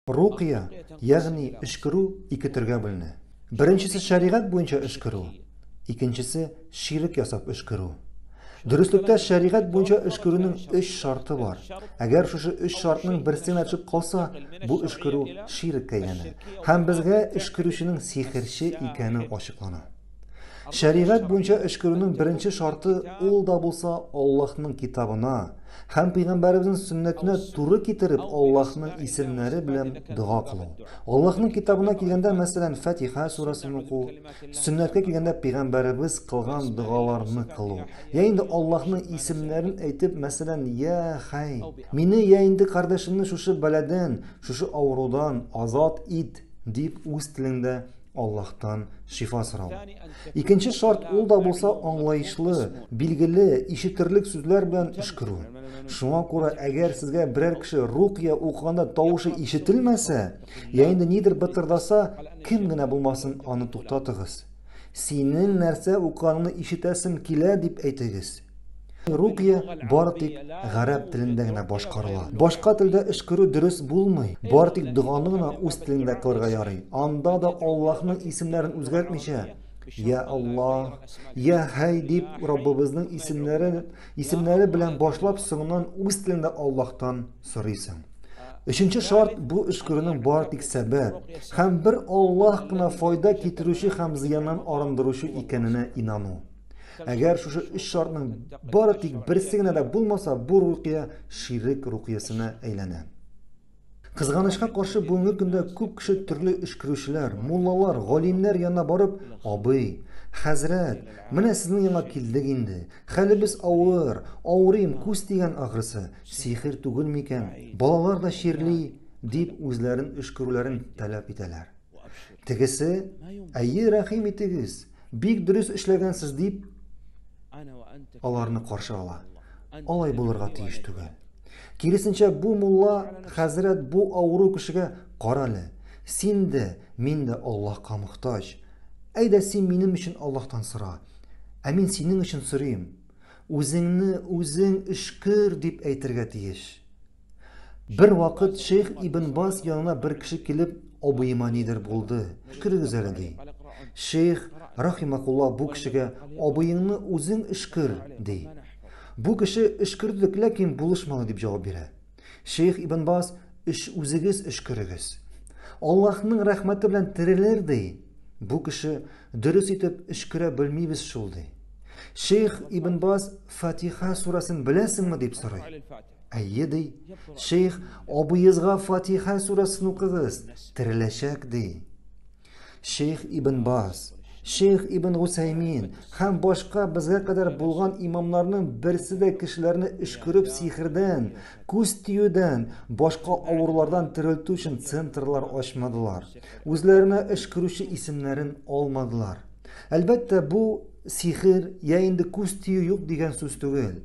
Рукыя, ягъни өшкерү ике төргә бүленә. Беренчесе шәригать буенча өшкерү, икенчесе ширек ясап өшкерү. Дөреслектә шәригать буенча өшкерүнең өч шарты бар. Әгәр шушы өч шартның берсе генә төшеп калса, бу өшкерү ширеккә әйләнә. Һәм безгә өшкерүченең сихерче икәне ачыклана. Шәригать буенча өшкерүнең беренче шарты ул да булса Аллаһның китабына һәм пәйгамбәребезнең сөннәтенә туры китереп Аллаһның исемнәре белән дога кылу. Аллаһның китабына килгәндә, мәсәлән, Фатиха сүрәсен уку, сөннәткә килгәндә пәйгамбәребез кылган догаларны кылу. Я инде Аллаһның исемнәрен әйтеп, мәсәлән, Я Хай, мине я инде кардәшемне шушы бәладән, шушы авырудан азат ит дип үз телеңдә Аллаһтан шифа сорау. Икенче шарт ул да булса аңлаешлы, билгеле, ишетерлек сүзләр белән өшкерү. Шуңа күрә әгәр сезгә берәр кеше рукия укыганда тавышы ишетелмәсә, я инде нидер бытырдаса, кем генә булмасын аны туктатыгыз. Синең нәрсә укыганыңны ишетәсем килә дип әйтегез. Рукия бары тик гарәп телендә генә башкарыла. Башка телдә өшкерү дөрес булмый. Бары тик доганы гына үз телеңдә кылырга ярый. Анда да Аллаһның исемнәрен үзгәртмичә, Я Аллаһ, Я Хәй дип Раббыбызның исемнәре, исемнәре белән башлап, соңыннан үз телеңдә Аллаһтан сорыйсың. Өченче шарт бу өшкерүнең бары тик сәбәп һәм бер Аллаһ кына файда китерүче һәм зыяннан арындыручы икәненә инану. Әгәр шушы өч шартның бары тик берсе генә дә булмаса, бу рукия ширек рукиясенә әйләнә. Кызганычка каршы, бүгенге көндә күп кеше төрле өшкерүчеләр, муллалар, галимнәр янына барып, абый, хәзрәт, менә сезнең янга килдек инде. Хәлебез авыр, авырыйм, күз тигән ахрысы, сихер түгел микән, балалар да чирли, дип үзләрен өшкерүләрен таләп итәләр. Тегесе, әйе, рәхим итегез, бик дөрес эшләгәнсез, дип аларны каршы ала. Алай булырга тиеш түгел. Киресенчә, бу мулла хәзрәт бу авыру кешегә карале, син дә, мин дә Аллаһка мохтаҗ. Әйдә син минем өчен Аллаһтан сора, ә мин синең өчен сорыйм. Үзеңне үзең өшкер дип әйтергә тиеш. Бер вакыт шейх Ибн Баз янына бер кеше килеп, абыема нидер булды, өшкерегез әле, ди. Шейх, рахимакулла, бу кешегә, абыеңны үзең өшкер, ди. Бу кеше өшкердек, ләкин булышмады дип җавап бирә. Шейх Ибн Баз, өш үзегез өшкерегез. Аллаһның рәхмәте белән терелер, ди. Бу кеше дөрес итеп өшкерә белмибез шул, ди. Шейх Ибн Баз Фатиха сүрәсен беләсеңме дип сорый. Әйе, ди. Шейх, абыегызга Фатиха сүрәсен укыгыз, тереләчәк, ди. Шейх Ибн Баз, Шейх Ибн Гусаймин һәм башка безгә кадәр булган имамнарның берсе дә кешеләрне өшкереп сихердән, күз тиюдән, башка авырулардан терелтү өчен центрлар ачмадылар. Үзләренә өшкерүче исемнәрен алмадылар. Әлбәттә, бу сихер я инде күз тию юк дигән сүз түгел.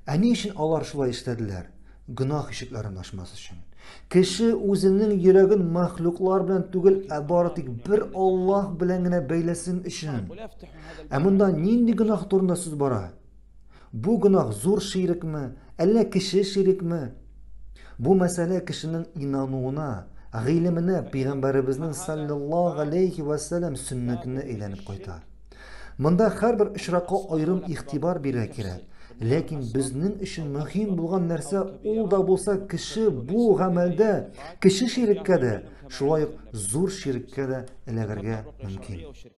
Ә ни өчен алар шулай эшләделәр? Гөнаһ ишекләрен ачмас өчен. Кеше үзенең йөрәген мәхлуклар белән түгел, ә бары тик бер Аллаһ белән генә бәйләсен өчен. Ә монда нинди гөнаһ турында сүз бара? Бу гөнаһ зур ширекме, әллә кече ширекме? Бу мәсьәлә кешенең инануына, гыйлеменә, пәйгамбәребезнең саллаллаһу алейхи ва сәлләм сөннәтенә әйләнеп кайта. Монда һәрбер очракка аерым игътибар бирергә кирәк. Ләкин безнең өчен мөһим булган нәрсә ул да булса кеше бу гамәлдә кече ширеккә дә, шулай ук зур ширеккә дә эләгергә мөмкин.